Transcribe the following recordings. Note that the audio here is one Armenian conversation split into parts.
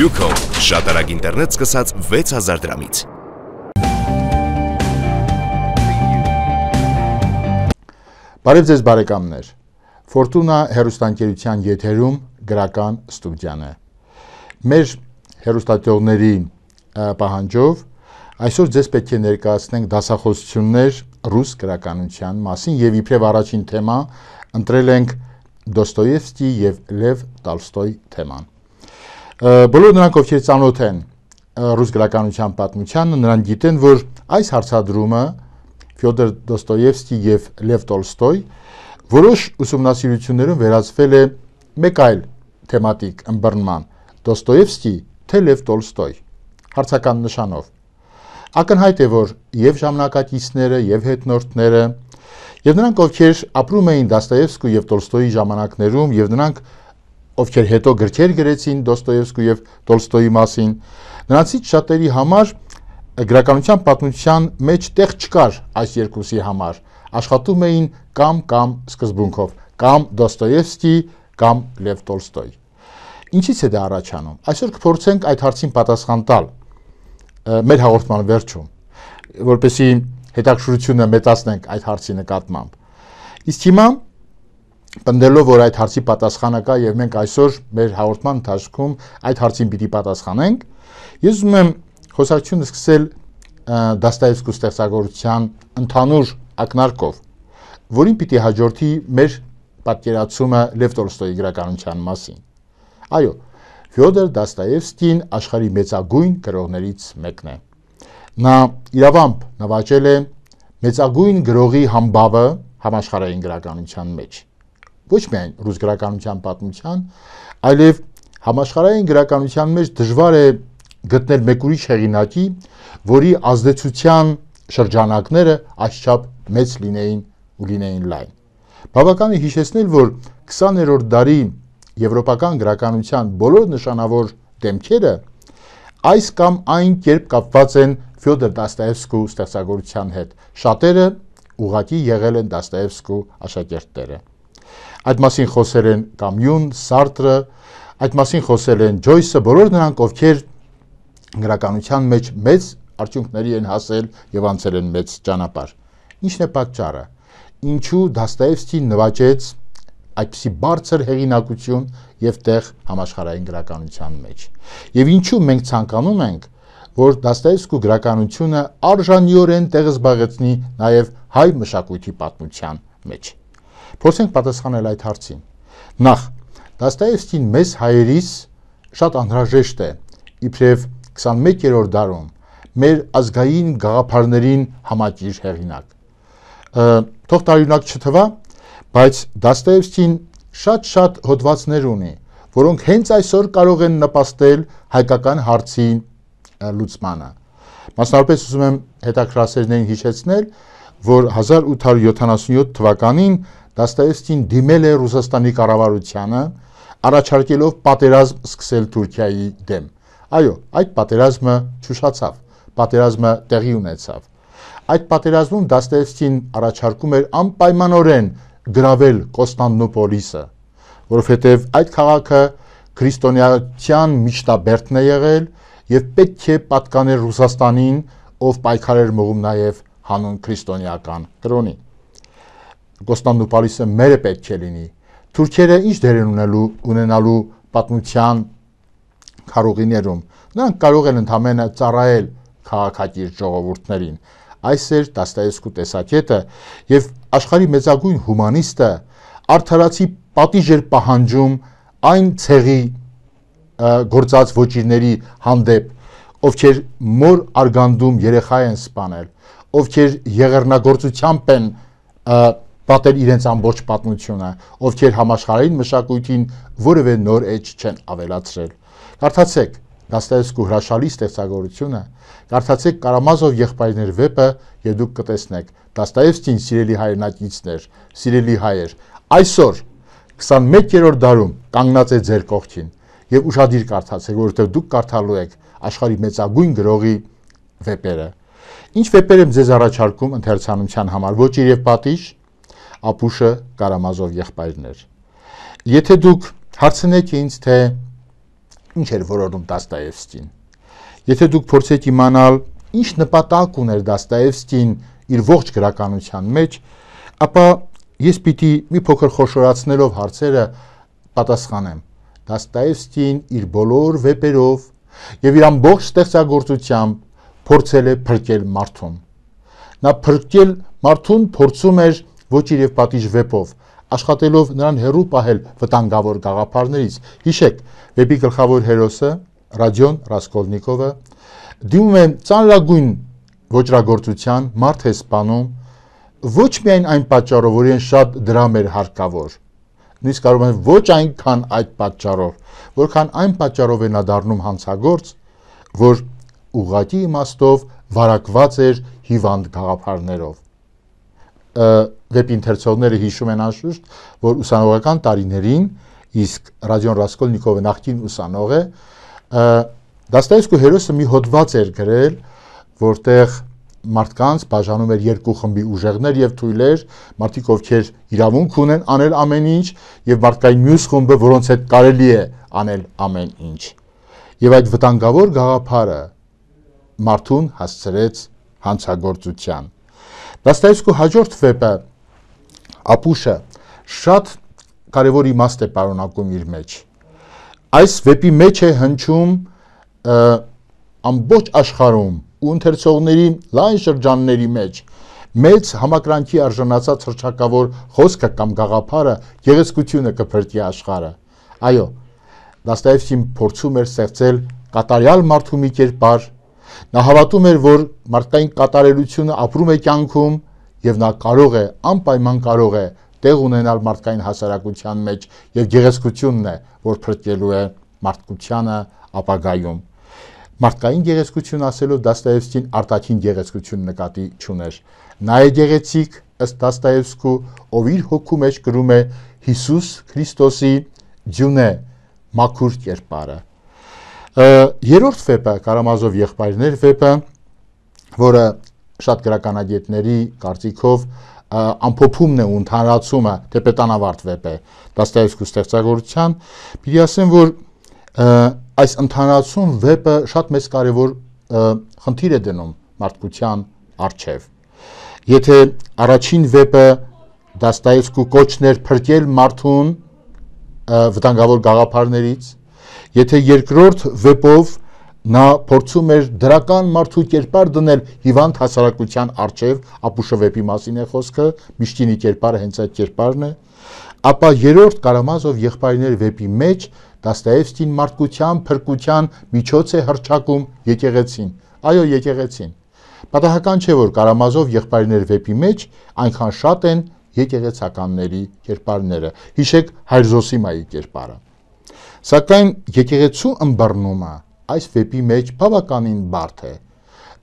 Yuko, շատ արագ ինտերնետ սկսած 6000 դրամից։ Բարև ձեզ բարեկամներ, Ֆորտունա հեռուստաընկերության եթերում գրական ստուդիան է։ Մեր հեռուստատեղների պահանջով այսօր ձեզ պետք է ներկայացնենք դասախոսություններ ռուս գրականության մասին եւ իբրև առաջին թեմա ընտրել ենք Դոստոևսկի եւ Լև Տոլստոյ թեման։ Բոլոր նրանք, ովքեր ծանոթ են ռուս գրականության պատմությանը, նրանք գիտեն, որ այս հարցադրումը Ֆյոդոր Դոստոևսկի եւ Լև Տոլստոյ որոշ ուսումնասիրություններում վերածվել է մեկ այլ թեմատիկ ըմբռնման՝ Դոստոևսկի թե Լև Տոլստոյ, հարցական նշանով։ Ակնհայտ է, որ եւ ժամանակակիցները եւ հետնորդները եւ նրանք, ովքեր ապրում էին Դոստոևսկու եւ Տոլստոյի ժամանակներում եւ նրանք, ովքեր հետո գրքեր գրեցին Դոստոևսկու եւ Տոլստոյի մասին, նրանցից շատերի համար գրականության պատմության մեջ տեղ չկար այս երկուսի համար, աշխատում էին կամ սկզբունքով, կամ Դոստոևսկի, կամ Լև Տոլստոյ։ Ինչից է դա առաջանում։ Այսօր կփորձենք այդ հարցին պատասխան տալ մեր հաղորդման վերջում, որպեսզի հետաքրքրությունը մեծացնենք այդ հարցի նկատմամբ։ Իսկ հիմա պնդելով, որ այդ հարցի պատասխանը կա եւ մենք այսօր մեր հաղորդման ընթացքում այդ հարցին պիտի պատասխանենք, ես ուզում եմ խոսակցությունը սկսել Դոստոևսկու ստեղծագործության ընդհանուր ակնարկով, որին պիտի հաջորդի մեր պատկերացումը Լև Տոլստոյի գրականության մասին։ Այո, Ֆյոդոր Դոստոևսկին աշխարհի մեծագույն գրողներից մեկն է։ Նա իրավամբ նվաճել է մեծագույն գրողի համբավը համաշխարհային գրականության մեջ։ Ոչ միայն ռուս գրականության պատմության, այլև համաշխարհային գրականության մեջ դժվար է գտնել մեկ ուրիշ հեղինակի, որի ազդեցության շրջանակները այսչափ մեծ լինեին լայն։ Բավական է հիշեցնել, որ 20-րդ դարի եվրոպական գրականության բոլոր նշանավոր դեմքերը այս կամ այն կերպ կապված են Ֆյոդոր Դոստոևսկու ստեղծագործության հետ։ Շատերը ուղղակի եղել են Դոստոևսկու աշակերտները։ Այդ մասին խոսել են Կամյուն, Սարտրը, այդ մասին խոսել են Ջոյսը, բոլոր նրանք, ովքեր գրականության մեջ մեծ արդյունքների են հասել եւ անցել են մեծ ճանապարհ։ Ինչն է պատճառը։ Ինչու Դոստոևսկին նվաճեց այդպիսի բարձր հեղինակություն եւ տեղ համաշխարհային գրականության մեջ։ Եվ ինչու մենք ցանկանում ենք, որ Դոստոևսկու գրականությունը արժանիորեն տեղ զբաղեցնի նաեւ հայ մշակույթի պատմության մեջ։ Փորձենք պատասխանել այդ հարցին։ Նախ, Դոստոևսկին մեզ հայերիս շատ անհրաժեշտ է, իբրև 21-րդ դարում մեր ազգային գաղափարներին համակիր հեղինակ։ Թող տարօրինակ չթվա, բայց Դոստոևսկին շատ հոդվածներ ունի, որոնք հենց այսօր կարող են նպաստել հայկական հարցի լուծմանը։ Մասնավորապես ուզում եմ հետաքրքրասերներին հիշեցնել, որ 1877 թվականին Դոստոևսկին դիմել է Ռուսաստանի կառավարությանը, առաջարկելով պատերազմ սկսել Թուրքիայի դեմ։ Այո, այդ պատերազմը չուշացավ, պատերազմը տեղի ունեցավ։ Այդ պատերազմում Դոստոևսկին առաջարկում էր անպայմանորեն գրավել Կոստանդնուպոլիսը, որովհետև այդ քաղաքը քրիստոնեության միջնաբերդն է եղել եւ պետք է պատկաներ Ռուսաստանին, ով պայքար էր մղում նաեւ հանուն քրիստոնեական կրոնի։ Կոստանդնուպոլիսը մերը պետք է լինի։ Թուրքերը ինչ դեր են ունենալու պատմության քարուղիներում։ Նրանք կարող են ընդհանրապես ծառայել քաղաքակիրթ ժողովուրդներին։ Այս էր Դոստոևսկու տեսակետը եւ աշխարհի մեծագույն հումանիստը արդարացի պատիժ էր պահանջում այն ցեղի գործած ոճիրների հանդեպ, ովքեր մոր արգանդում երեխա են սպանել, ովքեր եղեռնագործությամբ են պատել իրենց ամբողջ պատմությունը, ովքեր համաշխարհային մշակույթին որևէ նոր էջ չեն ավելացրել։ Կարդացեք Դոստոևսկու հրաշալի ստեղծագործությունը, կարդացեք Կարամազով եղբայրներ վեպը եւ դուք կտեսնեք Դոստոևսկին սիրելի հայրենակիցներ, սիրելի հայեր, այսօր 21-րդ դարում կանգնած է ձեր կողքին եւ ուշադիր կարդացեք, որովհետեւ դուք կարդալու եք աշխարհի մեծագույն գրողի վեպերը։ Ինչ վեպեր եմ ձեզ առաջարկում ընթերցանության համար, Ոճիր եւ պատիժ, Ապուշը, Կարամազով եղբայրներ։ Եթե դուք հարցնեք ինձ, թե ինչ էր որոնում Դաստոևսկին։ Եթե դուք փորձեք իմանալ, ինչ նպատակ ուներ Դաստոևսկին իր ողջ գրականության մեջ, ապա ես պիտի մի փոքր խոշորացնելով հարցերը պատասխանեմ։ Դաստոևսկին իր բոլոր վեպերով եւ իր ամբողջ ստեղծագործությամբ փորձել է փրկել մարդուն։ Նա փրկել մարդուն փորձում էր ոչ իր եւ պատիժ վեպով, աշխատելով նրան հեռու պահել վտանգավոր գաղափարներից։ Հիշեք, վեպի գլխավոր հերոսը Ռադիոն Ռասկոլնիկովը դիմում է ծանրագույն ոճրագործության, մարդ է սպանում, ոչ միայն այն պատճառով, որ իրեն շատ դրամ էր հարկավոր, նույնիսկ կարող է ոչ այնքան այդ պատճառով, որքան այն պատճառով է նա դառնում հանցագործ, որ ուղղակի իմաստով վարակված էր հիվանդ գաղափարներով։ Վեպի ընթերցողները հիշում են անշուշտ, որ ուսանողական տարիներին, իսկ Ռադիոն Ռասկոլնիկովը նախկին ուսանող է, Դաստոևսկու հերոսը մի հոդված էր գրել, որտեղ մարդկանց բաժանում էր երկու խմբի ուժեղներ եւ թույլեր, մարդիկ ովքեր իրավունք ունեն անել ամեն ինչ, եւ մարդկային մյուս խումբը, որոնց հետ կարելի է անել ամեն ինչ։ Եվ այդ վտանգավոր գաղափարը մարդուն հասցրեց հանցագործության։ Դաստոևսկու հաջորդ վեպը Ապուշը շատ կարևոր իմաստ է պարունակում իր մեջ։ Այս վեպի մեջ է հնչում ամբողջ աշխարհում ու ընթերցողների լայն շրջանների մեջ մեծ համակրանքի արժանացած հռչակավոր խոսքը կամ գաղափարը գեղեցկությունը կփրկի աշխարհը։ Այո, Դաստոևսկին փորձում էր ստեղծել կատարյալ մարդու մի կերպար, նա հավատում էր, որ մարդկային կատարելությունը ապրում է կյանքում եւ նա կարող է, անպայման կարող է տեղ ունենալ մարդկային հասարակության մեջ եւ գեղեցկությունն է, որ փրկելու է մարդկությանը ապագայում։ Մարդկային գեղեցկություն ասելով Դաստոևսկին արտաքին գեղեցկություն նկատի չուներ։ Նա է գեղեցիկ ըստ Դաստոևսկու, ով իր հոգու մեջ կրում է Հիսուս Քրիստոսի ձյունե մաքուր կերպարը։ Երրորդ վեպը Կարամազով եղբայրներ վեպը, որը շատ գրականագետների կարծիքով ամփոփումն է ու ընդհանրացումը թեպետանավարտ վեպ է Դաստոևսկու ստեղծագործության, պիտի ասեմ, որ այս ընդհանրացում վեպը շատ մեծ կարևոր խնդիր է դնում մարդկության առջև։ Եթե առաջին վեպը Դաստոևսկու կոչն էր փրկել մարդուն վտանգավոր գաղափարներից, եթե երկրորդ վեպով նա փորձում էր դրական մարդու կերպար դնել հիվանդ հասարակության առջև, Ապուշը վեպի մասին է խոսքը, Միշտինի կերպարը հենց այդ կերպարն է, ապա երրորդ Կարամազով եղբայրներ վեպի մեջ Դաստոևսկին մարդկության փրկության միջոց է հռչակում եկեղեցին։ Այո, եկեղեցին։ Պատահական չէ, որ Կարամազով եղբայրներ վեպի մեջ այնքան շատ են եկեղեցականների կերպարները։ Հիշեք Հայր Զոսիմայի կերպարը։ Սակայն եկեղեցու ըմբռնումը այս վեպի մեջ բավականին բարդ է։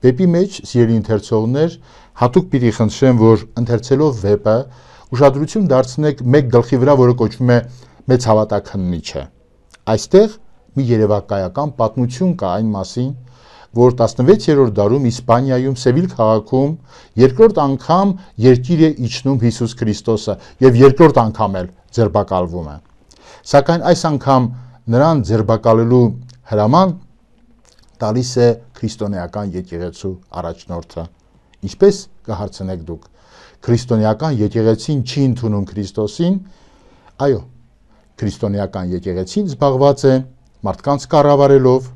Վեպի մեջ, սիրելի ընթերցողներ, հատուկ պիտի խնդրեմ, որ ընթերցելով վեպը ուշադրություն դարձնեք մեկ գլխի վրա, որը կոչվում է Մեծ հավատաքննիչը։ Այստեղ մի երևակայական պատմություն կա այն մասին, որ 16-րդ դարում Իսպանիայում Սևիլ քաղաքում երկրորդ անգամ երկիր է իջնում Հիսուս Քրիստոսը եւ երկրորդ անգամ էլ ձերբակալվում է։ Սակայն այս անգամ նրան ձերբակալելու հրաման տալիս է քրիստոնեական եկեղեցու առաջնորդը։ Ինչպես կհարցնեք դուք, քրիստոնեական եկեղեցին չի ընդունում Քրիստոսին։ Այո, քրիստոնեական եկեղեցին զբաղված է մարդկանց կառավարելով,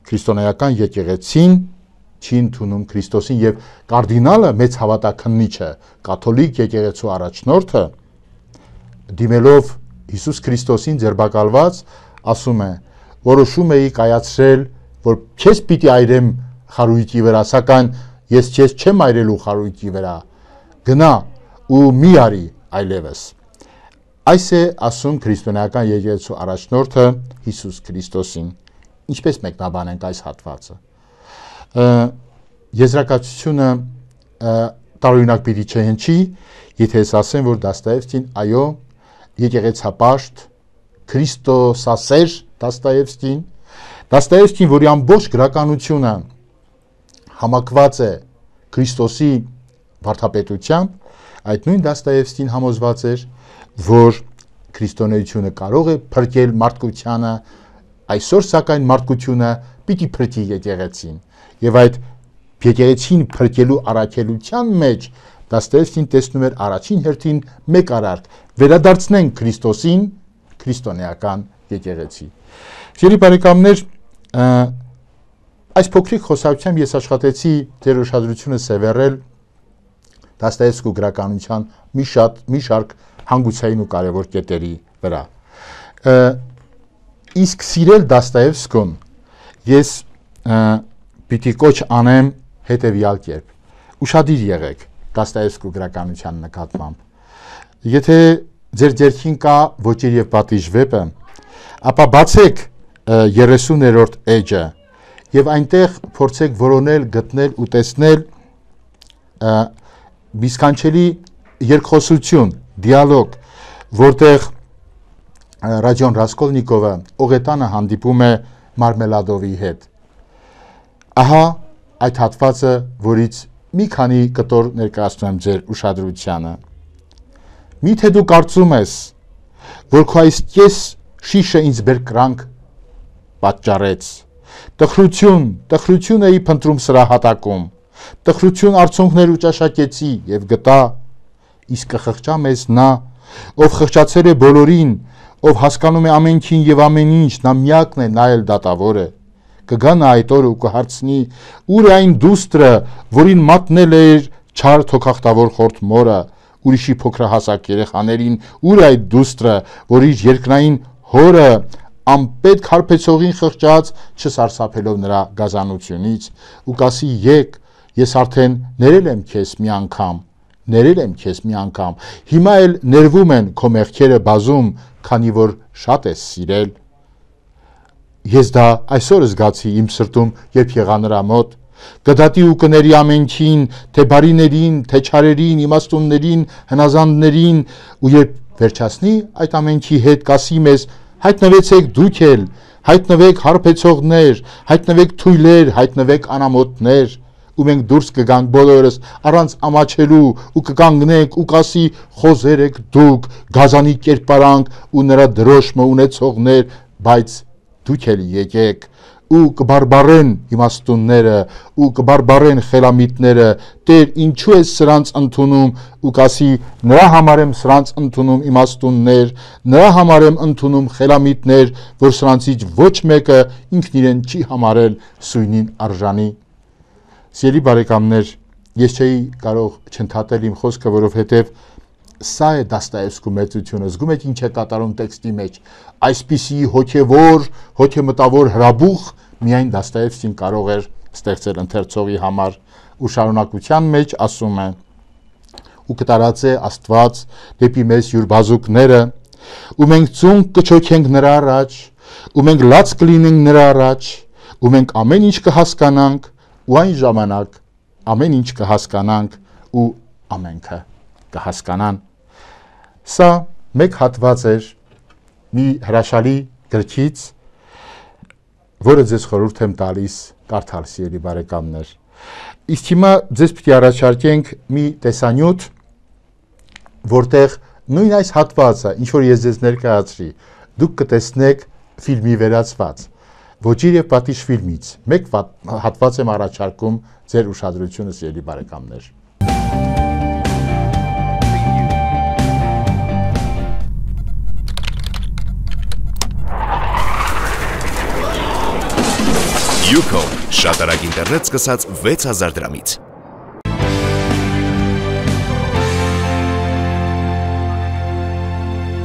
քրիստոնեական եկեղեցին չի ընդունում Քրիստոսին եւ կարդինալը մեծ հավատաքննիչը, կաթոլիկ եկեղեցու առաջնորդը դիմելով Հիսուս Քրիստոսին ձերբակալված ասում է. որոշում էի կայացրել, որ քեզ պիտի այրեմ խարույկի վրա, սակայն ես քեզ չեմ այրելու խարույկի վրա, գնա ու մի արի այլևս։ Այս է ասում քրիստոնեական եկեղեցու առաջնորդը Հիսուս Քրիստոսին։ Ինչպես մեկնաբանենք այս հատվածը։ Եզրակացությունը տարօրինակ պիտի չհնչի, եթե ես ասեմ, որ Դաստոևսկին այո եկեղեցապաշտ քրիստոսասեր Դաստոևսկին, որի ամբողջ գրականությունը համակված է Քրիստոսի վարդապետությամբ, այդ նույն Դաստոևսկին համոզված էր, որ քրիստոնեությունը կարող է փրկել մարդկությանը Այսօր սակայն մարդկությունը պիտի փրկի եկեղեցին, եւ այդ եկեղեցին փրկելու առաքելության մեջ Դաստոևսկին տեսնում էր առաջին հերթին մեկ արարք՝ վերադարձնենք Քրիստոսին, քրիստոնեական եկեղեցի։ Սիրելի բարեկամներ, այս փոքրիկ խոսակցությամբ ես աշխատեցի ձեր ուշադրությունը սևեռել Դաստոևսկու գրականության մի շարք հանգուցային ու կարևոր կետերի վրա։ Իսկ սիրել Դաստոևսկուն ես պիտի կոչ անեմ հետևյալ կերպ. ուշադիր եղեք Դաստոևսկու գրականության նկատմամբ։ Եթե ձեր ձեռքին կա Ոճիր եւ պատիժ վեպը, ապա բացեք 30-րդ էջը եւ այնտեղ փորձեք որոնել, գտնել ու տեսնել մի սքանչելի երկխոսություն, դիալոգ, որտեղ Ռադիոն Ռասկոլնիկովը Օղետանը հանդիպում է Մարմելադովի հետ։ Ահա այդ հատվածը, որից մի քանի կտոր ներկայացնում եմ ձեր ուշադրությանը։ Միթե դու կարծում ես, որ քո այս կես շիշը ինձ բերկրանք պատճառեց։ Տխրություն էի փնտրում սրահատակում, տխրություն արցունքներ ու ճաշակեցի եւ գտա, իսկ կխղճա մեզ նա, ով խղճացել է բոլորին, ով հասկանում է ամենքին եւ ամեն ինչ, նա միակն է, նա էլ դատավոր է։ Կգա նա այդ օրը ու կհարցնի. ուր է այն դուստրը, որին մատնել էր չար թոքախտավոր խորթ մորը, ուրիշի փոքրահասակ երեխաներին, ուր է այդ դուստրը, որ իր երկնային հորը անպետք հարբեցողին խղճած, չսարսափելով նրա գազանությունից, ու կասի եկ, ես արդեն ներել եմ քեզ մի անգամ, հիմա էլ ներվում են քո մեղքերը բազում, քանի որ շատ ես սիրել։ Ես դա այսօր զգացի իմ սրտում, երբ եղա նրա մոտ, կդատի ու կների ամենքին, թե բարիներին, թե չարերին, իմաստուններին, հնազանդներին, ու երբ վերջացնի այդ ամենքի հետ կասի մեզ. հայտնվեցեք դուք էլ, հայտնվեք հարբեցողներ, հայտնվեք թույլեր, հայտնվեք անամոթներ, ու մենք դուրս կգանք բոլորս առանց ամաչելու ու կկանգնենք ու կասի խոզեր եք դուք, գազանի կերպարանք ու նրա դրոշմը ունեցողներ, բայց դուք էլ եկեք ու կբարբարեն իմաստունները ու կբարբարեն խելամիտները, Տեր, ինչու ես սրանց ընդունում, ու կասի նրա համար եմ սրանց ընդունում իմաստուններ, նրա համար եմ ընդունում խելամիտներ, որ սրանցից ոչ մեկը ինքն իրեն չի համարել սույնին արժանի։ Սիրելի բարեկամներ, ես չէի կարող չընդհատել իմ խոսքը, որովհետև սա է Դաստոևսկու մեծությունը, զգում եք ինչ է կատարում տեքստի մեջ, այսպիսի հոգեմտավոր հրաբուխ միայն Դաստոևսկին կարող էր ստեղծել ընթերցողի համար, ու շարունակության մեջ ասում է. ու կտարածե Աստված դեպի մեզ յուր բազուկները, ու մենք ծունկ կչոքենք նրա առաջ, ու մենք լաց կլինենք նրա առաջ, ու մենք ամեն ինչ կհասկանանք, ու այն ժամանակ ամեն ինչ կհասկանանք ու ամենքը կհասկանան։ Սա մեկ հատված էր մի հրաշալի գրքից, որը ձեզ խորհուրդ եմ տալիս կարդալ, սիրելի բարեկամներ։ Իսկ հիմա ձեզ պիտի առաջարկենք մի տեսանյութ, որտեղ նույն այս հատվածը, ինչ որ ես ձեզ ներկայացրի, դուք կտեսնեք ֆիլմի վերածված, Ոճիր եւ պատիժ ֆիլմից մեկ հատված եմ առաջարկում ձեր ուշադրությունը, սիրելի բարեկամներ։ Ucom շատ արագ ինտերնետ սկսած 6000 դրամից։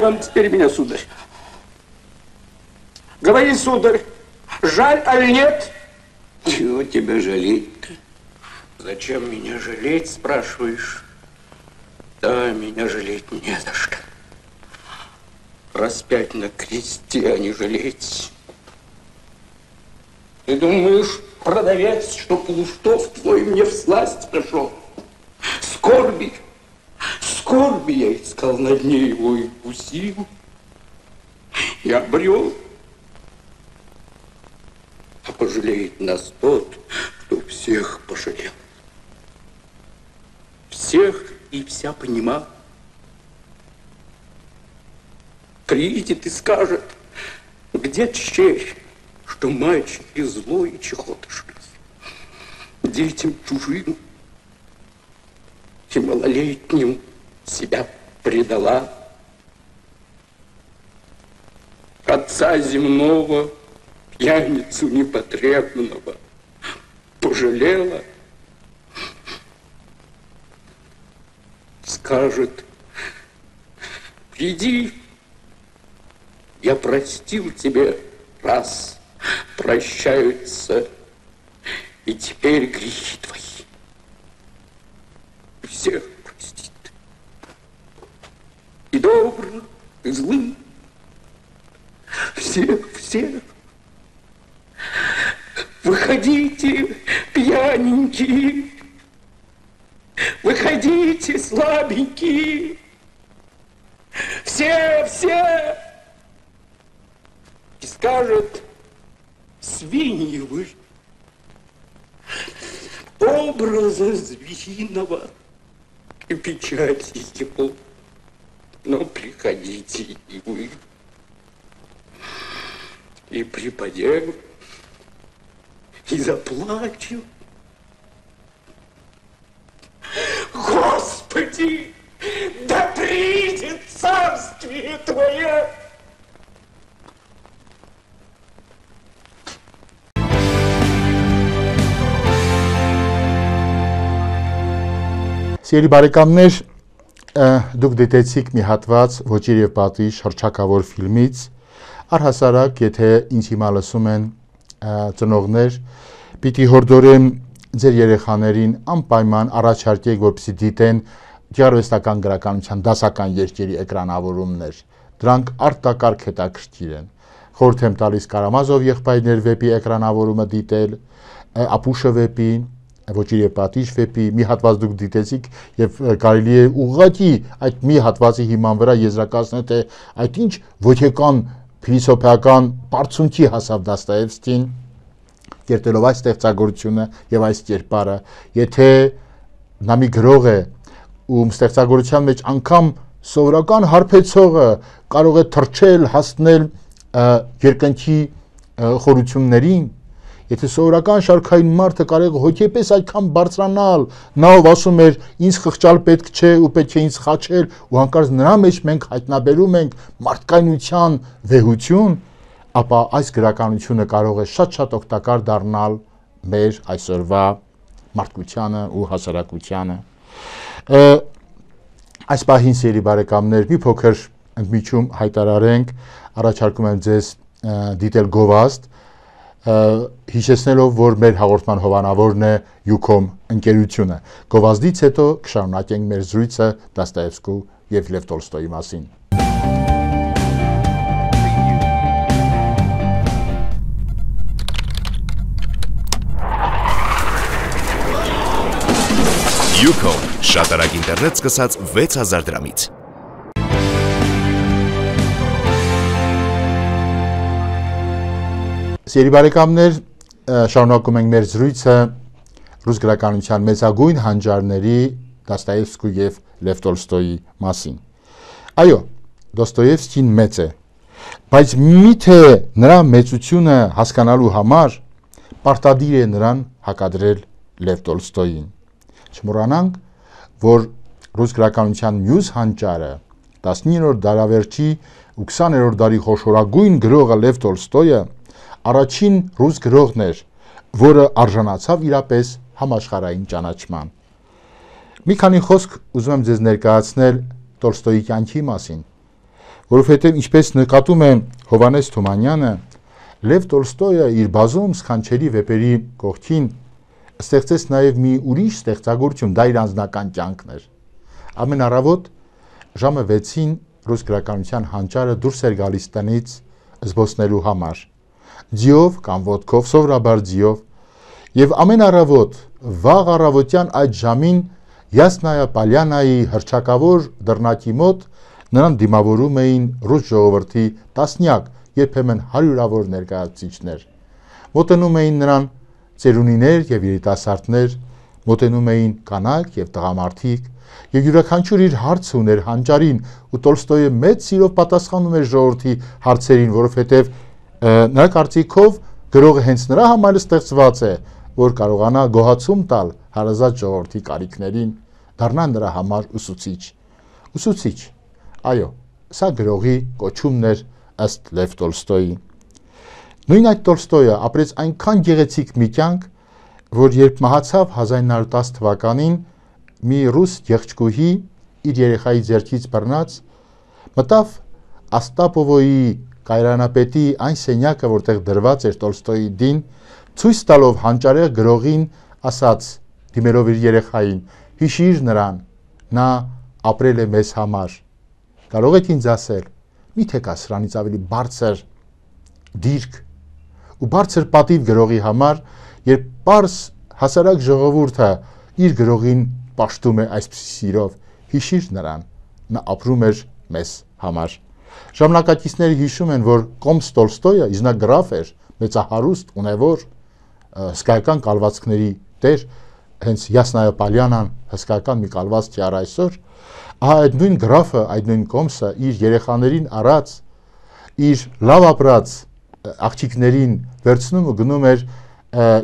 Вам теперь меня, сударь. Говори, сударь, жаль, аль нет? Чего тебя жалеть-то? Зачем меня жалеть, спрашиваешь? Да, меня жалеть не за что. Распять на кресте, а не жалеть. Ты думаешь, продавец, что Полуштов твой мне всласть пришел? Скорби я искал на дне его и вкусил, и обрел. А пожалеет нас тот, кто всех пожалел. Всех и вся понимал. Приедет и скажет, где черь, что мальчики злой и чехотошный, детям чужим и малолетним себя предала. Отца земного, пьяницу непотребного, пожалела. Скажет: приди, я простил тебе раз, прощаются и теперь грехи твои. Всех простит. И добрых, и злых. Всех. Выходите, пьяненькие. Выходите, слабенькие. Все. И скажет: свиньи вы, образа звериного и печати его, но приходите и вы, и припадем, и заплачем. Господи, да придет царствие Твое! Սիրելի բարեկամներ, դուք դիտեցիք մի հատված «Ոճիր եւ պատիժ» հռչակավոր ֆիլմից, առհասարակ, եթե ինձ հիմա լսում են ծնողներ, պիտի հորդորեմ ձեր երեխաներին անպայման առաջարկեք, որպեսզի դիտեն գեղարվեստական գրականության դասական երկերի էկրանավորումներ։ Դրանք արտակարգ հետաքրքիր են։ Խորհուրդ եմ տալիս Կարամազով եղբայրներ վեպի էկրանավորումը դիտել, Ապուշը վեպին, Ոճիր եւ պատիժ վեպի մի հատված դուք դիտեցիք եւ կարելի է ուղղակի այդ մի հատվածի հիման վրա եզրակացնել, թե այդ ինչ ոչեկան փիլիսոփայական բարձունքի հասավ Դոստոևսկին, կերտելով այս ստեղծագործությունը եւ այս կերպարը, եթե նա մի գրող է, ում ստեղծագործության մեջ անգամ սովորական հարբեցողը կարող է թռչել, հասնել երկնքի խորություններին, եթե սովորական շարքային մարդը կարող է հոգեպես այդքան բարձրանալ, նա ով ասում էր ինձ խղճալ պետք չէ ու պետք է ինձ խաչել, ու հանկարծ նրա մեջ մենք հայտնաբերում ենք մարդկայնության վեհություն, ապա այս գրականությունը կարող է շատ օգտակար դառնալ մեր այսօրվա մարդկությանը ու հասարակությանը։ Այս պահին, սիրելի բարեկամներ, մի փոքր ընդմիջում հայտարարենք, առաջարկում եմ ձեզ դիտել գովազդ, հիշեցնելով, որ մեր հաղորդման հովանավորն է Յուքոմ ընկերությունը։ Գովազդից հետո կշարունակենք մեր զրույցը Դոստոևսկու եւ Լև Տոլստոյի մասին։ Յուքոմ շատ արագ ինտերնետ սկսած 6000 դրամից։ Սիրելի բարեկամներ, շարունակում ենք մեր զրույցը ռուս գրականության մեծագույն հանճարների Դոստոևսկու եւ Լև Տոլստոյի մասին։ Այո, Դոստոևսկին մեծ է, բայց միթե նրա մեծությունը հասկանալու համար պարտադիր է նրան հակադրել Լև Տոլստոյին։ Չմոռանանք, որ ռուս գրականության մյուս հանճարը 19-րդ դարավերջի ու 20-րդ դարի խոշորագույն գրողը Լև Տոլստոյը առաջին ռուս գրողն էր, որը արժանացավ իրապես համաշխարհային ճանաչման։ Մի քանի խոսք ուզում եմ ձեզ ներկայացնել Տոլստոյի կյանքի մասին, որովհետև ինչպես նկատում է Հովհաննես Թումանյանը, Լև Տոլստոյը իր բազում սքանչելի վեպերի կողքին ստեղծեց նաև մի ուրիշ ստեղծագործություն, դա իր անձնական կյանքն էր։ Ամեն առավոտ ժամը 6-ին ռուս գրականության հանճարը դուրս էր գալիս տնից զբոսնելու համար։ Ձիով կամ ոտքով, սովորաբար ձիով, եւ ամեն առավոտ վաղ առավոտյան այդ ժամին Յասնայա Պալյանայի հռչակավոր դռնակի մոտ նրան դիմավորում էին ռուս ժողովրդի տասնյակ, երբեմն հարյուրավոր ներկայացուցիչներ։ Մոտենում էին նրան ծերունիներ եւ երիտասարդներ, մոտենում էին կանայք եւ տղամարդիկ, եւ յուրաքանչյուր իր հարցը ուներ հանճարին, ու Տոլստոյը մեծ սիրով պատասխանում էր ժողովրդի հարցերին, որովհետեւ նրա կարծիքով Գրողը հենց նրա համար ստեղծված է, որ կարողանա գոհացում տալ հարազատ ժողովրդի կարիքներին, դառնա նրա համար ուսուցիչ։ Ուսուցիչ։ Այո, սա գրողի կոչումն էր ըստ Լև Տոլստոյի։ Նույն այդ Տոլստոյը ապրեց այնքան գեղեցիկ մի կյանք, որ երբ մահացավ 1910 թվականին, մի ռուս եղջկուհի իր երեխայի ձեռքից բռնած մտավ Աստապովոյի կայարանապետի այն սենյակը, որտեղ դրված էր Տոլստոյի դին, ցույց տալով հանճարեղ գրողին ասաց, դիմելով իր երեխային, հիշիր նրան, նա ապրել է մեզ համար։ Կարող եք ինձ ասել, միթե կա սրանից ավելի բարձր դիրք ու բարձր պատիվ գրողի համար, երբ պարզ հասարակ ժողովուրդը իր գրողին պաշտում է այսպիսի սիրով, հիշիր նրան, նա ապրում էր մեզ համար։ Ժամանակակիցները հիշում են, որ Կոմս Տոլստոյը իզնագրավ էր, մեծահարուստ, ունևոր, հսկայական կալվածքների տեր, հենց Յասնայա Պալյանան հսկայական մի կալվածք է առ այսօր, այդ նույն գրաֆը, այդ նույն Կոմսը իր երեխաներին առած, իր լավ ապրած աղջիկներին վերցնում ու գնում էր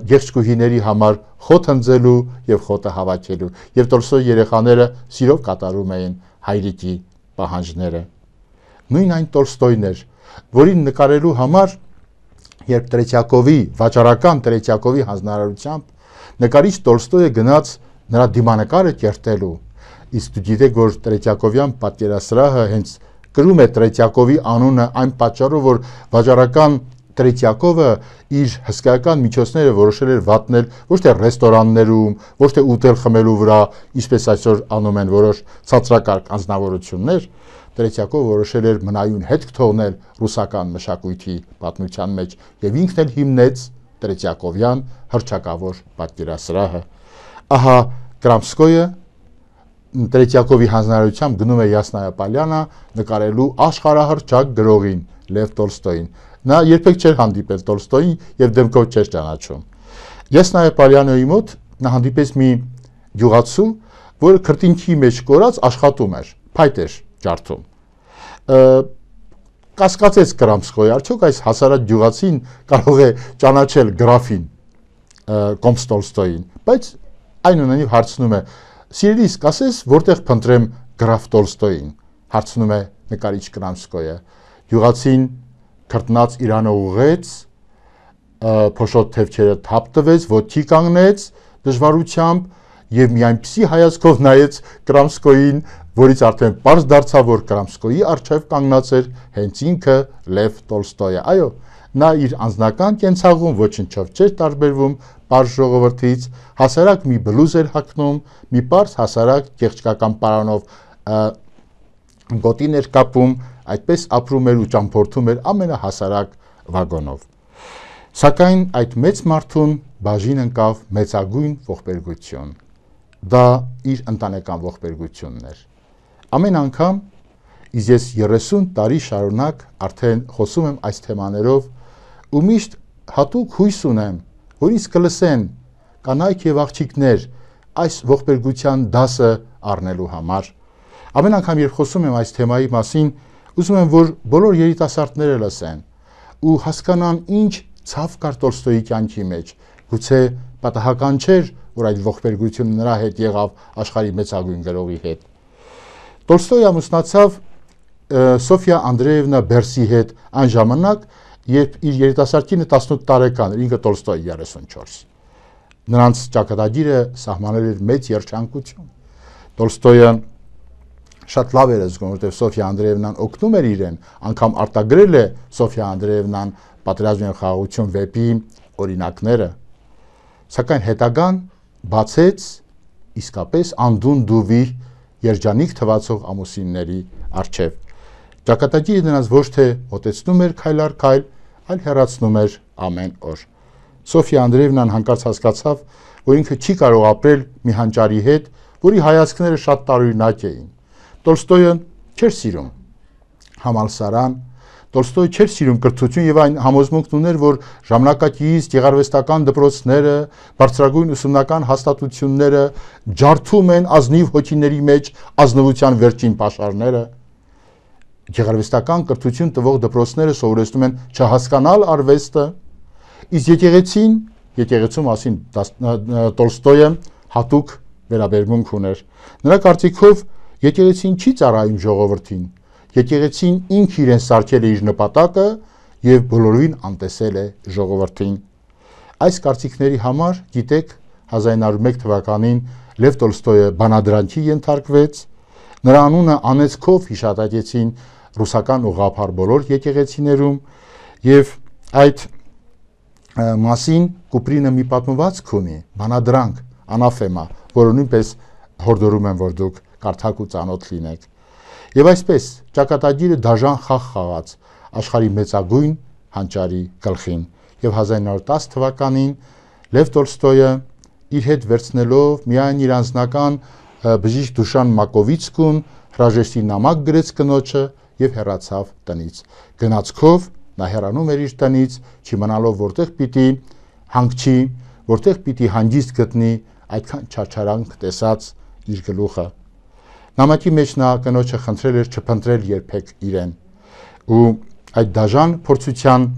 եղջկուհիների համար խոտ հնձելու եւ խոտը հավաքելու, եւ Տոլստոյի երեխաները սիրով կատարում էին հայրիկի պահանջները։ Նույն այն Տոլստոյն էր, որին նկարելու համար, երբ Տրետյակովի, վաճառական Տրետյակովի հանձնարարությամբ նկարիչ Տոլստոյը գնաց նրա դիմանկարը կերտելու, իսկ դու գիտեք, որ Տրետյակովյան պատկերասրահը հենց կրում է Տրետյակովի անունը այն պատճառով, որ վաճառական Տրետյակովը իր հսկայական միջոցները որոշել էր վատնել ոչ թե ռեստորաններում, ոչ թե ուտել խմելու վրա, ինչպես այսօր անում են որոշ ցածրակարգ անձնավորություններ, Տրետյակովը որոշել էր մնայուն հետք թողնել ռուսական մշակույթի պատմության մեջ եւ ինքն էլ հիմնեց Տրետյակովյան հռչակավոր պատկերասրահը։ Ահա Կրամսկոյը Տրետյակովի հանձնարարությամբ գնում է Յասնայա Պալյանը նկարելու աշխարհահռչակ գրողին Լև Տոլստոյին։ Նա երբեք չէր հանդիպել Տոլստոյին եւ դեմքով չէր ճանաչում։ Յասնայա Պալյանոյի մոտ նա հանդիպեց մի գյուղացու, որը քրտինքի մեջ կորած աշխատում էր, փայտ էր ջարդում։ Կասկածեց Կրամսկոյը, արդյոք այս հասարակ գյուղացին կարող է ճանաչել գրաֆին Կոմս Տոլստոյին, բայց այնուամենայնիվ հարցնում է. «Սիրելիս, կասես, որտեղ փնտրեմ գրաֆ Տոլստոյին», հարցնում է նկարիչ Կրամսկոյը։ Գյուղացին քրտնած իրանը ուղղեց, փոշոտ թևքերը թափ տվեց, ոտքի կանգնեց դժվարությամբ եւ մի այնպիսի հայացքով նայեց Կրամսկոյին, որից արդեն պարզ դարձավ, որ Կրամսկոյի առջև կանգնած էր հենց ինքը Լև Տոլստոյը։ Այո, նա իր անձնական կենցաղում ոչնչով չէր տարբերվում պարզ ժողովրդից, հասարակ մի բլուզ էր հագնում, մի պարզ հասարակ եղջկական պարանով գոտին էր կապում, այդպես ապրում էր ու ճամփորդում էր ամենահասարակ վագոնով։ Սակայն այդ մեծ մարդուն բաժին ընկավ մեծագույն ողբերգություն։ Դա իր ընտանեկան ողբերգությունն էր։ Ամեն անգամ, իսկ ես 30 տարի շարունակ արդեն խոսում եմ այս թեմաներով ու միշտ հատուկ հույս ունեմ, որ ինձ կլսեն կանայք եւ աղջիկներ այս ողբերգության դասը առնելու համար։ Ամեն անգամ, երբ խոսում եմ այս թեմայի մասին, ուզում եմ, որ բոլոր երիտասարդները լսեն ու հասկանան, ինչ ցավ կար Տոլստոյի կյանքի մեջ։ Գուցե պատահական չէր, որ այդ ողբերգությունը նրա հետ եղավ աշխարհի մեծագույն գրողի հետ։ Տոլստոյը ամուսնացավ Սոֆիա Անդրեևնա Բերսի հետ այն ժամանակ, երբ իր երիտասարդ կինը 18 տարեկան էր, ինքը Տոլստոյը 34։ Նրանց ճակատագիրը սահմանել էր մեծ երջանկություն։ Տոլստոյը շատ լավ էր զգում, որտեղ Սոֆիա Անդրեևնան օգնում էր իրեն, անգամ արտագրել է Սոֆիա Անդրեևնան Պատերազմ եւ խաղաղություն վեպի օրինակները։ Սակայն հետագան բացեց իսկապես անդուն դուվի երջանիկ թվացող ամուսինների առջև։ Ճակատագիրը նրանց ոչ թե մոտեցնում էր քայլ առ քայլ, այլ հեռացնում էր ամեն օր։ Սոֆիա Անդրեևնան հանկարծ հասկացավ, որ ինքը չի կարող ապրել մի հանճարի հետ, որի հայացքները շատ տարօրինակ էին։ Տոլստոյը չէր սիրում համալսարան, Տոլստոյը չէր սիրում կրթություն եւ այն համոզմունքն ուներ, որ ժամանակակից գեղարվեստական դպրոցները, բարձրագույն ուսումնական հաստատությունները ջարդում են ազնիվ հոգիների մեջ ազնվության վերջին պաշարները։ Գեղարվեստական կրթություն տվող դպրոցները սովորեցնում են չհասկանալ արվեստը, Իսկ եկեղեցու մասին Տոլստոյը հատուկ վերաբերմունք ուներ։ Նրա կարծիքով եկեղեցին չի ծառայում ժողովրդին, եկեղեցին ինքը իրեն սարքել է իր նպատակը եւ բոլորին անտեսել է ժողովրդին։ Այս կարծիքների համար, գիտեք, 1901 թվականին Լև Տոլստոյը բանադրանքի ենթարկվեց, նրա անունը անեծքով հիշատակեցին ռուսական ուղղափառ բոլոր եկեղեցիներում եւ այդ մասին Կուպրինը մի պատմվածք ունի, բանադրանք, անաֆեմա, որը նույնպես հորդորում եմ, որ դուք կարդաք ու ծանոթ լինեք։ Եվ այսպես ճակատագիրը դաժան խաղ խաղաց աշխարհի մեծագույն հանճարի գլխին եւ 1910 թվականին Լև Տոլստոյը իր հետ վերցնելով միայն իր անձնական բժիշկ Դուշան Մակովիցկուն հրաժեշտի նամակ գրեց կնոջը եւ հեռացավ տնից։ Գնացքով նա հեռանում էր իր տնից, չիմանալով որտեղ պիտի հանգչի, որտեղ պիտի հանգիստ գտնի այդքան չարչարանք տեսած իր գլուխը։ Նամակի մեջ նա կնոջը խնդրել էր չփնտրել երբեք իրեն։ Ու այդ դաժան փորձության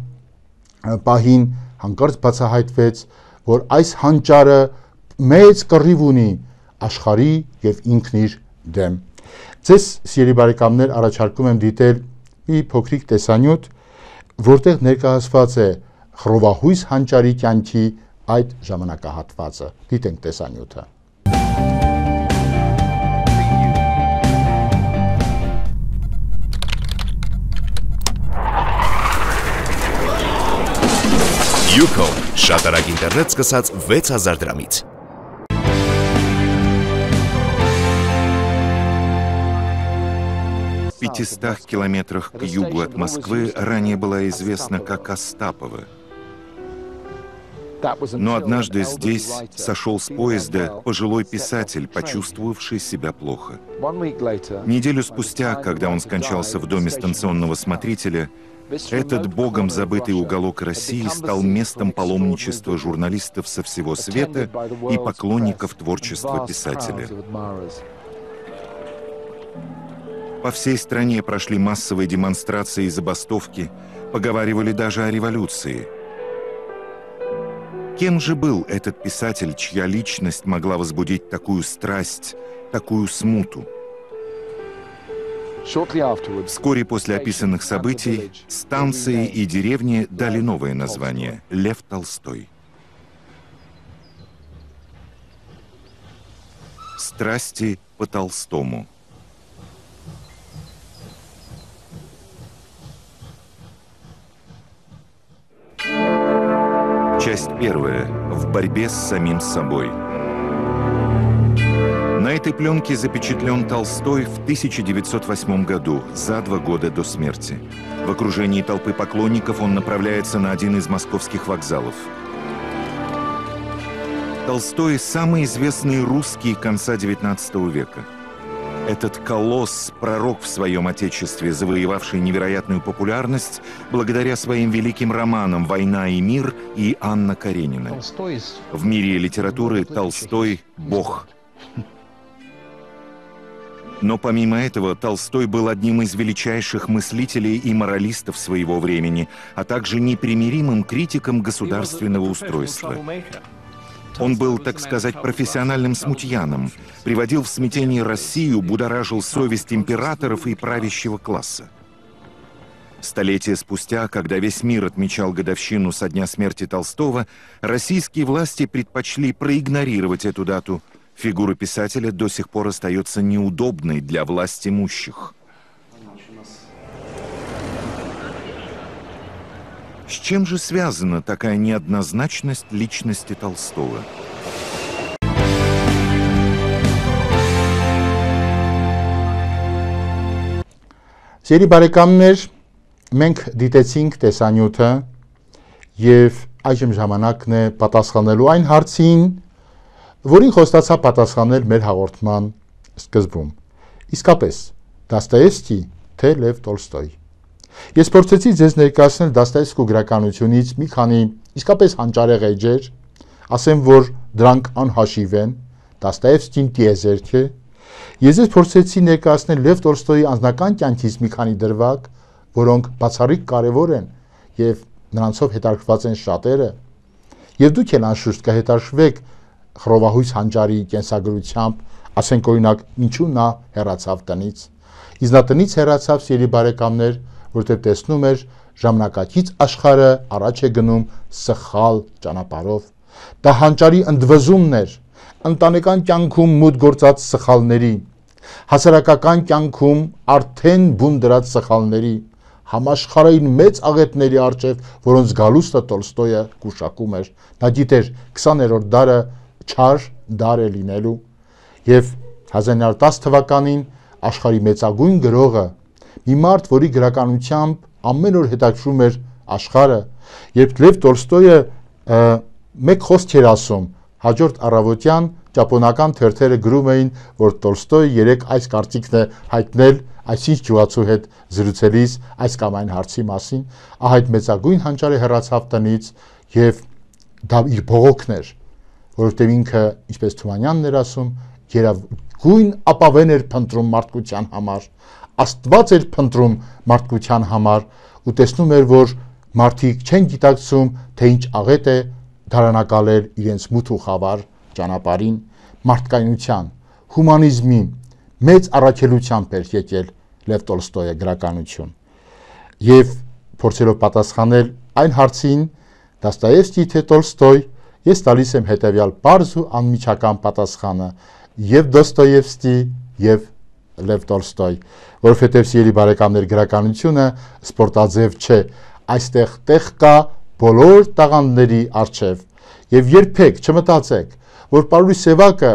պահին հանկարծ բացահայտվեց, որ այս հանճարը մեծ կռիվ ունի աշխարհի եւ ինքն իր դեմ։ Ձեզ սիրելի բարեկամներ առաջարկում եմ դիտել մի փոքրիկ տեսանյութ, որտեղ ներկայացված է խռովահույս հանճարի կյանքի այդ ժամանակահատվածը։ Դիտենք տեսանյութը։ Յուքոմ շատ արագ ինտերնետ սկսած 6000 դրամից։ 500 километрах к югу от Москвы ранее была известна как Остапово. Но однажды здесь сошел с поезда пожилой писатель, почувствовавший себя плохо. Неделю спустя, когда он скончался в доме станционного смотрителя, этот богом забытый уголок России стал местом паломничества журналистов со всего света и поклонников творчества писателя. По всей стране прошли массовые демонстрации и забастовки, поговаривали даже о революции. Кем же был этот писатель, чья личность могла возбудить такую страсть, такую смуту? Вскоре после описанных событий станции и деревни дали новое название – Лев Толстой. Страсти по Толстому. Часть первая. В борьбе с самим собой. На этой пленке запечатлен Толстой в 1908 году, за 2 года до смерти. В окружении толпы поклонников он направляется на один из московских вокзалов. Толстой – самый известный русский конца XIX века. Этот колосс, пророк в своем отечестве, завоевавший невероятную популярность благодаря своим великим романам «Война и мир» и «Анна Каренина». В мире литературы Толстой – бог. Но помимо этого, Толстой был одним из величайших мыслителей и моралистов своего времени, а также непримиримым критиком государственного устройства. Он был, так сказать, профессиональным смутьяном, приводил в смятение Россию, будоражил совесть императоров и правящего класса. Столетия спустя, когда весь мир отмечал годовщину со дня смерти Толстого, российские власти предпочли проигнорировать эту дату. Фигура писателя до сих пор остается неудобной для властимущих. С чем же связана такая неоднозначность личности Толстого? Սիրելի բարեկամներ, մենք դիտեցինք տեսանյութը եւ այժմ ժամանակն է պատասխանելու այն հարցին, որին խոստացա պատասխանել մեր հաղորդման սկզբում։ Իսկապես, Դոստոևսկի թե Լև Տոլստոյ։ Ես փորձեցի ձեզ ներկայացնել Դոստոևսկու գրականությունից մի քանի իսկապես հանճարեղ էջեր, ասեմ, որ դրանք անհաշիվ են, Դոստոևսկին տիեզերք է։ Ես ձեզ փորձեցի ներկայացնել Լև Տոլստոյի անձնական կյանքից մի քանի դրվագ, որոնք բացառիկ կարևոր են եւ նրանցով հետաքրքրված են շատերը, եւ դուք էլ անշուշտ կհետաքրքրվեք Խռովահույս հանճարի կենսագրությամբ, ասենք օրինակ, ինչու նա հեռացավ տնից։ Իսկ նա տնից հեռացավ, սիրելի բարեկամներ, որտեղ տեսնում էր ժամանակակից աշխարհը առաջ է գնում սխալ ճանապարհով։ Դա հանճարի ընդվզումն էր ընտանեկան կյանքում մուտք գործած սխալների, հասարակական կյանքում արդեն բուն դրած սխալների, համաշխարհային մեծ աղետների առջև, որոնց գալուստը Տոլստոյը գուշակում էր։ Նա գիտեր 20-րդ դարը չար դար է լինելու, եւ 1910 թվականին աշխարհի մեծագույն գրողը, մի մարդ, որի գրականությամբ ամեն օր հետաքրում էր աշխարհը, երբ Լև Տոլստոյը մեկ խոսք էր ասում, հաջորդ առավոտյան ճապոնական թերթերը գրում էին, որ Տոլստոյը երեք այս կարծիքն է հայտնել այսինչ ջուացու հետ զրուցելիս այս կամ այն հարցի մասին, այդ մեծագույն հանճարը հեռացավ տնից եւ դա իր բողոքն էր, որովհետեւ ինքը, ինչպես Թումանյանն էր ասում, գերագույն ապավեն էր փնտրում մարդկության համար, Աստված էր փնտրում մարդկության համար ու տեսնում էր, որ մարդիկ չեն գիտակցում, թե ինչ աղետ է դարանակալել իրենց մութ ու խավար ճանապարհին, մարդկայնության, հումանիզմի մեծ առաքելությամբ էր եկել Լև Տոլստոյը գրականություն։ Եվ փորձելով պատասխանել այն հարցին, Դոստոևսկի թե Տոլստոյ, ես տալիս եմ հետևյալ պարզ ու անմիջական պատասխանը՝ եւ Դոստոևսկի եւ Լև Տոլստոյ, որովհետեւ սիրելի բարեկամներ, գրականությունը սպորտաձև չէ, այստեղ տեղ կա բոլոր տաղանդների առջև եւ երբեք չմտածեք, որ Պարուհի Սևակը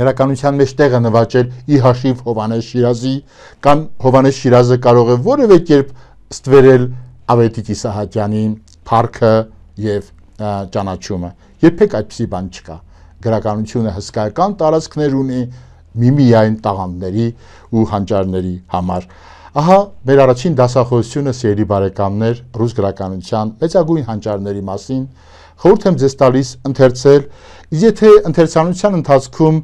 գրականության մեջ տեղ է նվաճել ի հաշիվ Հովհաննես Շիրազի, կամ Հովհաննես Շիրազը կարող է որևէ կերպ ստվերել Ավետիք Իսահակյանի փառքը եւ ճանաչումը։ Երբեք այդպիսի բան չկա։ Գրականությունը հսկայական տարածքներ ունի միմիայն տաղանդների ու հանճարների համար։ Ահա մեր առաջին դասախոսությունը, սիրելի բարեկամներ, ռուս գրականության մեծագույն հանճարների մասին։ Խորհուրդ եմ ձեզ տալիս ընթերցել, իսկ եթե ընթերցանության ընթացքում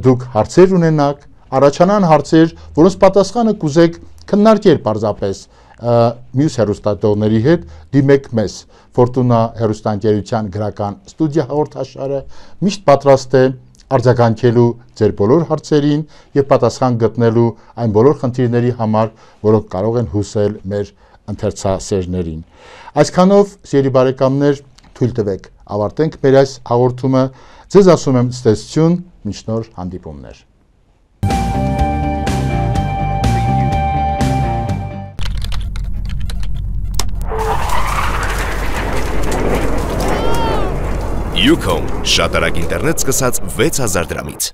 դուք հարցեր ունենաք, առաջանան հարցեր, որոնց պատասխանը կուզեք քննարկել պարզապես մյուս հեռուստատողների հետ, դիմեք մեզ։ Ֆորտունա հեռուստաընկերության գրական ստուդիա հաղորդաշարը միշտ պատրաստ է արձագանքելու ձեր բոլոր հարցերին եւ պատասխան գտնելու այն բոլոր խնդիրների համար, որոնք կարող են հուսել մեր ընթերցասերներին։ Այսքանով, սիրելի բարեկամներ, թույլ տվեք ավարտենք մեր այս հաղորդումը։ Ձեզ ասում եմ ցտեսություն, մինչ նոր հանդիպումներ։ Յուքոմ շատ արագ ինտերնետ սկսած 6000 դրամից։